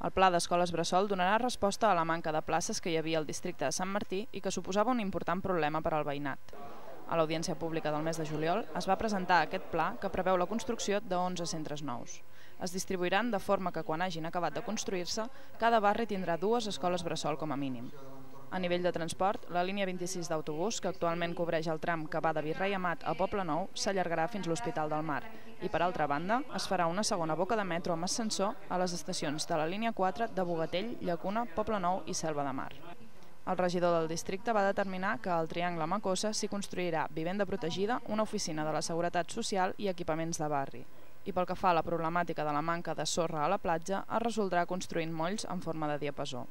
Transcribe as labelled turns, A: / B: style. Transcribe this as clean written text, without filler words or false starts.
A: El pla d'escoles bressol donarà resposta a la manca de places que hi havia al districte de Sant Martí i que suposava un important problema per al veïnat. A l'audiència pública del mes de juliol es va presentar aquest pla que preveu la construcció de 11 centres nous. Es distribuiran de forma que quan hagin acabat de construir-se, cada barri tindrà 2 escoles bressol com a mínim. A nivell de transport, la línia 26 d'autobús, que actualment cobreix el tram que va de Virrei Amat a Poblenou, s'allargarà fins l'Hospital del Mar i, per altra banda, es farà una segona boca de metro amb ascensor a les estacions de la línia 4 de Bogatell, Llacuna, Poblenou i Selva de Mar. El regidor del districte va determinar que al Triangle Macossa s'hi construirà vivenda protegida, una oficina de la Seguretat Social i equipaments de barri. I pel que fa a la problemàtica de la manca de sorra a la platja, es resoldrà construint molls en forma de diapasó.